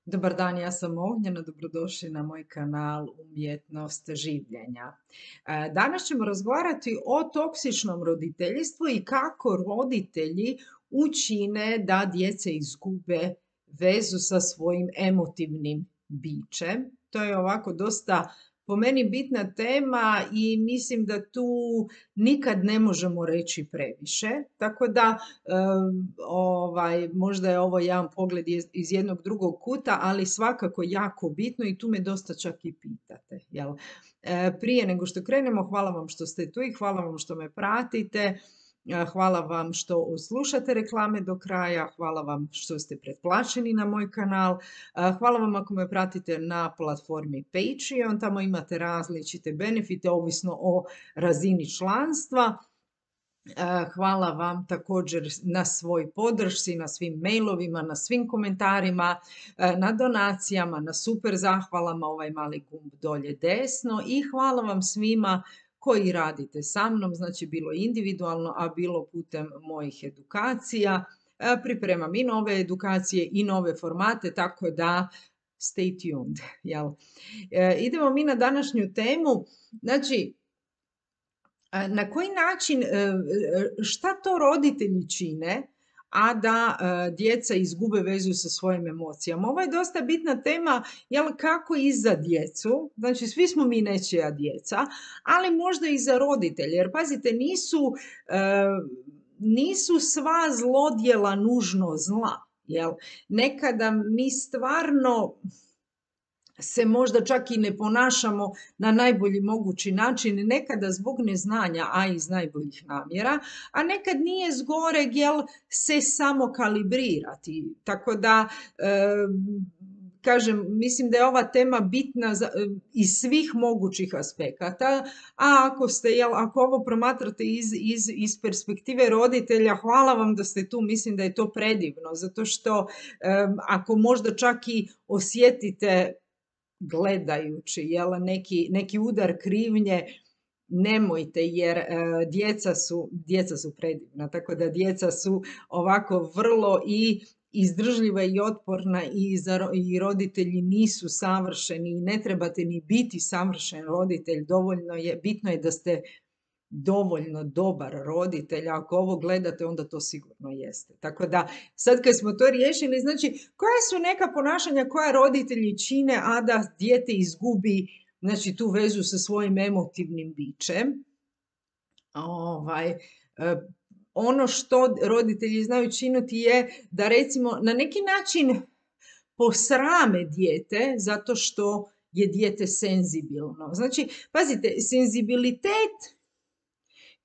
Dobar dan, ja sam Ognjena, dobrodošli na moj kanal Umjetnost življenja. Danas ćemo razgovarati o toksičnom roditeljstvu i kako roditelji učine da djeca izgube vezu sa svojim emotivnim bićem. To je ovako dosta po meni bitna tema i mislim da tu nikad ne možemo reći previše. Tako da možda je ovo jedan pogled iz jednog drugog kuta, ali svakako jako bitno i tu me dosta čak i pitate. Jel? Prije nego što krenemo, hvala vam što ste tu i hvala vam što me pratite. Hvala vam što slušate reklame do kraja, hvala vam što ste pretplaćeni na moj kanal, hvala vam ako me pratite na platformi Patreon, tamo imate različite benefite ovisno o razini članstva. Hvala vam također na svoj podršci, na svim mailovima, na svim komentarima, na donacijama, na super zahvalama, ovaj mali gumb dolje desno i hvala vam svima koji radite sa mnom, znači bilo individualno, a bilo putem mojih edukacija. Pripremam i nove edukacije i nove formate, tako da stay tuned. Jel? Idemo mi na današnju temu. Znači, na koji način, šta to roditelji čine, a da djeca izgube vezu sa svojim emocijama? Ovo je dosta bitna tema, jel, kako i za djecu, znači svi smo mi nečija djeca, ali možda i za roditelje, jer pazite, nisu sva zlodjela nužno zla, jel? Nekada mi stvarno se možda čak i ne ponašamo na najbolji mogući način, nekada zbog neznanja, a iz najboljih namjera, a nekad nije zgoreg, jel, se samo kalibrirati. Tako da, kažem, mislim da je ova tema bitna iz svih mogućih aspekata, a ako ovo promatrate iz perspektive roditelja, hvala vam da ste tu, mislim da je to predivno, zato što ako možda čak i osjetite gledajući, jel, neki udar krivnje, nemojte, jer djeca su predivna, tako da djeca su ovako vrlo i izdržljiva i otporna i roditelji nisu savršeni i ne trebate ni biti savršen roditelj, bitno je da ste dovoljno dobar roditelj, ako ovo gledate onda to sigurno jeste. Tako da sad kad smo to riješili, znači koja su neka ponašanja koja roditelji čine, a da dijete izgubi, znači, tu vezu sa svojim emotivnim bićem. Ono što roditelji znaju činiti je da recimo na neki način posrame dijete zato što je dijete senzibilno. Znači, pazite, senzibilitet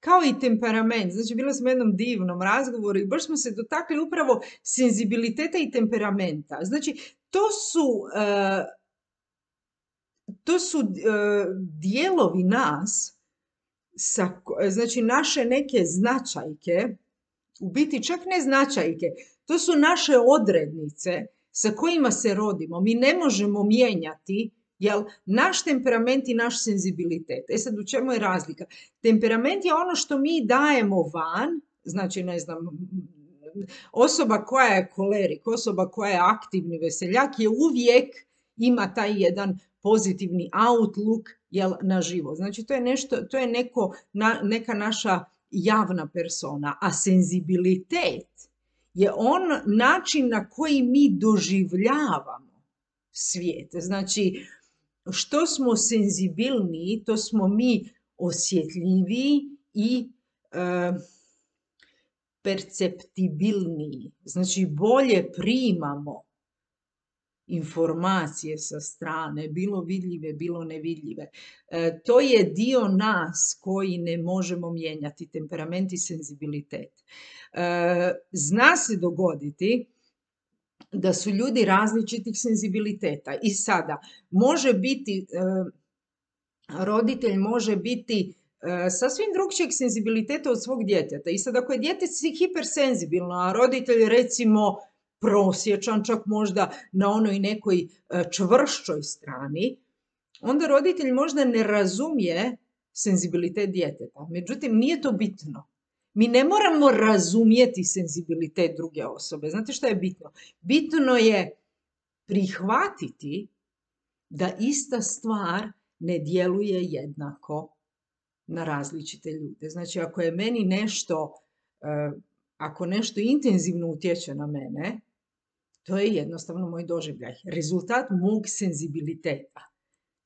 kao i temperament, znači bila sam u jednom divnom razgovoru i baš smo se dotakli upravo senzibiliteta i temperamenta. Znači, to su dijelovi nas, znači naše neke značajke, u biti čak ne značajke, to su naše odrednice sa kojima se rodimo. Mi ne možemo mijenjati, jel, naš temperament i naš senzibilitet. Sad, u čemu je razlika? Temperament je ono što mi dajemo van, znači, ne znam, osoba koja je kolerik, osoba koja je aktivni veseljak je uvijek ima taj jedan pozitivni outlook, jel, na život. Znači, to je neka naša javna persona, a senzibilitet je način na koji mi doživljavamo svijet. Znači, što smo senzibilniji, to smo mi osjetljiviji i perceptibilniji. Znači, bolje primamo informacije sa strane, bilo vidljive, bilo nevidljive. To je dio nas koji ne možemo mijenjati, temperament i senzibilitet. Zna se dogoditi da su ljudi različitih senzibiliteta i sada roditelj može biti sasvim drugčijeg senzibiliteta od svog djeteta. I sad ako je dijete hipersenzibilno, a roditelj recimo prosječan, čak možda na onoj nekoj čvršćoj strani, onda roditelj možda ne razumije senzibilitet djeteta. Međutim, nije to bitno. Mi ne moramo razumjeti senzibilitet druge osobe. Znate šta je bitno? Bitno je prihvatiti da ista stvar ne djeluje jednako na različite ljude. Znači, ako je meni nešto, ako nešto intenzivno utječe na mene, to je jednostavno moj doživljaj, rezultat mog senzibiliteta.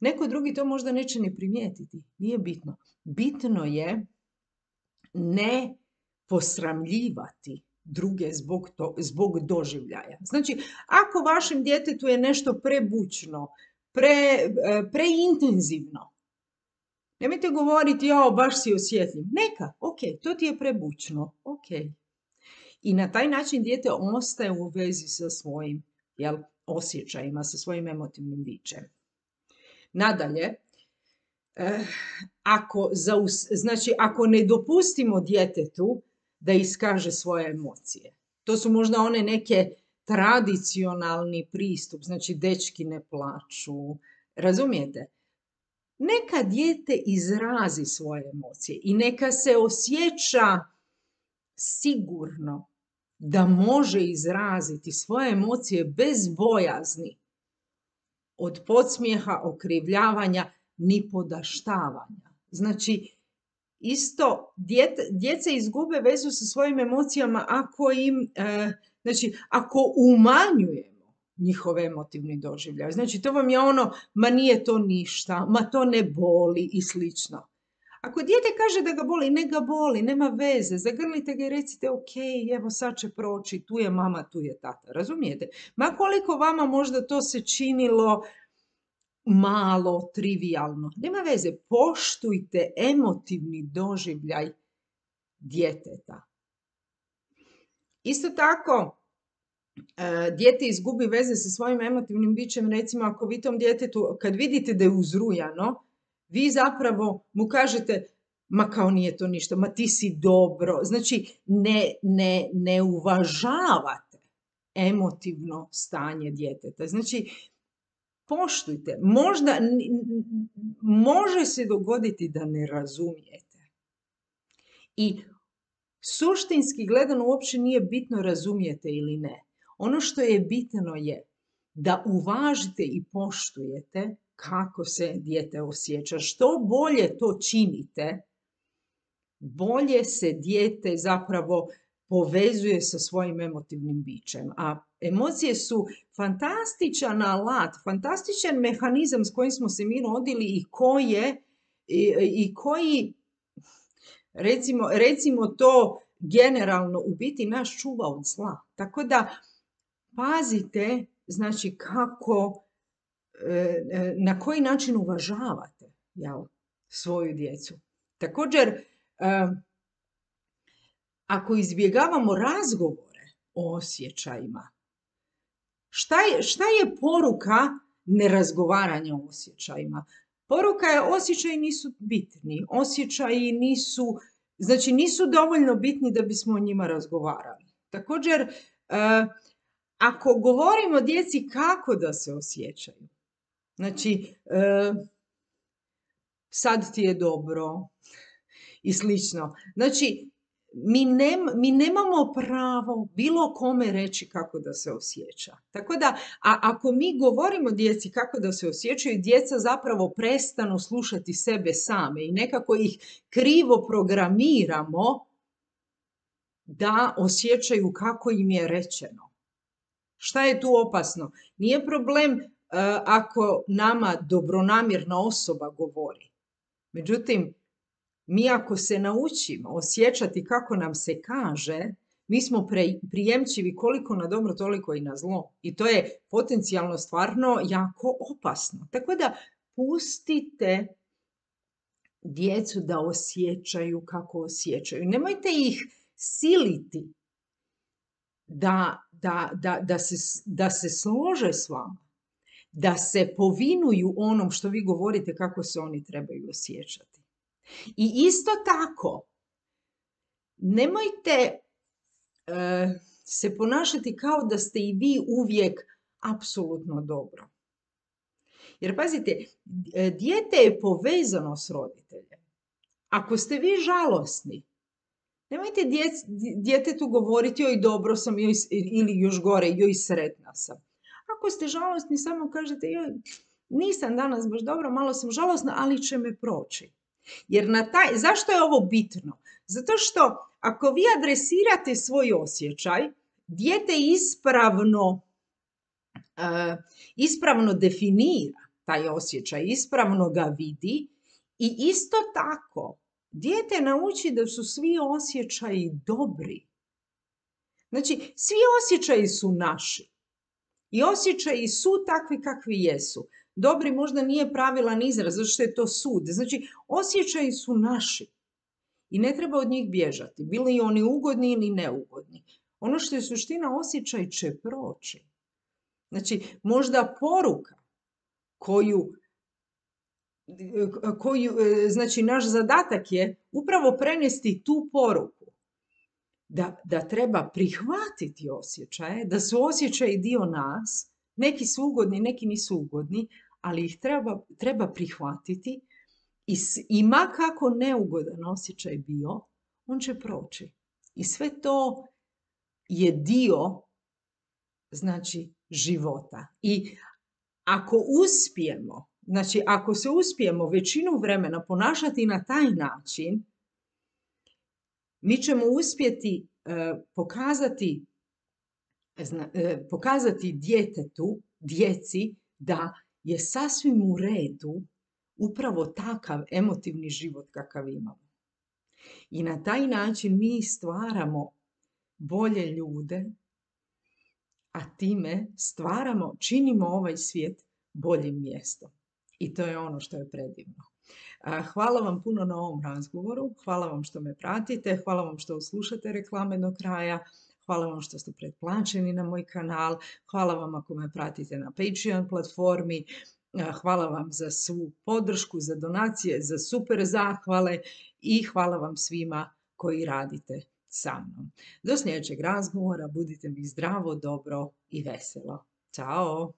Neko drugi to možda neće ni primijetiti, nije bitno. Bitno je ne posramljivati druge zbog doživljaja. Znači, ako vašem djetetu je nešto prebučno, preintenzivno, nemojte govoriti, baš si osjetljiv. Neka, ok, to ti je prebučno, ok. I na taj način dijete ostaje u vezi sa svojim osjećajima, sa svojim emotivnim bićem. Nadalje, ako ne dopustimo djetetu da iskaže svoje emocije, to su možda one neke tradicionalni pristup, znači dečki ne plaču, razumijete? Neka dijete izrazi svoje emocije i neka se osjeća sigurno da može izraziti svoje emocije bez bojazni od podsmijeha, okrivljavanja, ni podaštavanja. Znači, isto, djeca izgube vezu sa svojim emocijama ako umanjujemo njihove emotivni doživljaj. Znači, to vam je ma nije to ništa, ma to ne boli i slično. Ako dijete kaže da ga boli, ne ga boli, nema veze, zagrlite ga i recite ok, evo sad će proći, tu je mama, tu je tata, razumijete? Ma koliko vama možda to se činilo malo, trivijalno, nema veze, poštujte emotivni doživljaj djeteta. Isto tako, dijete izgubi veze sa svojim emotivnim bićem, recimo ako vi tom djetetu, kad vidite da je uzrujano, vi zapravo mu kažete, ma kao nije to ništa, ma ti si dobro. Znači, ne uvažavate emotivno stanje djeteta. Znači, poštujte. Možda, može se dogoditi da ne razumijete. I suštinski gledano uopće nije bitno razumijete ili ne. Ono što je bitno je da uvažite i poštujete kako se dijete osjeća. Što bolje to činite, bolje se dijete zapravo povezuje sa svojim emotivnim bićem. A emocije su fantastičan alat, fantastičan mehanizam s kojim smo se mi rodili i koji recimo to generalno u biti nas čuva od zla. Tako da pazite, znači na koji način uvažavate svoju djecu. Također, ako izbjegavamo razgovore o osjećajima, šta je poruka nerazgovaranja o osjećajima? Poruka je osjećaji nisu bitni, osjećaji nisu dovoljno bitni da bismo o njima razgovarali. Također, ako govorimo djeci kako da se osjećaju, znači, sad ti je dobro i slično. Znači, mi nemamo pravo bilo kome reći kako da se osjeća. Tako da, ako mi govorimo djeci kako da se osjećaju, djeca zapravo prestanu slušati sebe same i nekako ih krivo programiramo da osjećaju kako im je rečeno. Šta je tu opasno? Nije problem ako nama dobronamjerna osoba govori. Međutim, mi ako se naučimo osjećati kako nam se kaže, mi smo prijemčivi koliko na dobro, toliko i na zlo. I to je potencijalno stvarno jako opasno. Tako da pustite djecu da osjećaju kako osjećaju. Nemojte ih siliti da se slože s vama, da se povinuju onom što vi govorite kako se oni trebaju osjećati. I isto tako, nemojte se ponašati kao da ste i vi uvijek apsolutno dobro. Jer pazite, dijete je povezano s roditeljem. Ako ste vi žalosni, nemojte djetetu govoriti joj dobro sam ili još gore, joj sretna sam. ako ste žalosni, samo kažete, joj, nisam danas baš dobro, malo sam žalosna, ali će me proći. Jer zašto je ovo bitno? Zato što ako vi adresirate svoj osjećaj, dijete ispravno definira taj osjećaj, ispravno ga vidi i isto tako dijete nauči da su svi osjećaji dobri. Znači, svi osjećaji su naši i osjećaji su takvi kakvi jesu. Dobri možda nije pravilan izraz, zato što je to sud. Znači, osjećaji su naši i ne treba od njih bježati, bili oni ugodni ili neugodni. Ono što je suština, osjećaj će proći. Znači, možda poruka znači, naš zadatak je upravo prenesti tu poruku. Da treba prihvatiti osjećaje, da su osjećaji dio nas, neki su ugodni, neki nisu ugodni, ali ih treba prihvatiti i ma kako neugodan osjećaj bio, on će proći. I sve to je dio, znači, života. I ako se uspijemo većinu vremena ponašati na taj način, mi ćemo uspjeti pokazati djeci da je sasvim u redu upravo takav emotivni život kakav imamo. I na taj način mi stvaramo bolje ljude, a time činimo ovaj svijet boljim mjestom. I to je ono što je predivno. Hvala vam puno na ovom razgovoru, hvala vam što me pratite, hvala vam što slušate reklame do kraja, hvala vam što ste pretplaćeni na moj kanal, hvala vam ako me pratite na Patreon platformi, hvala vam za svu podršku, za donacije, za super zahvale i hvala vam svima koji radite sa mnom. Do sljedećeg razgovora, budite mi zdravo, dobro i veselo. Ćao!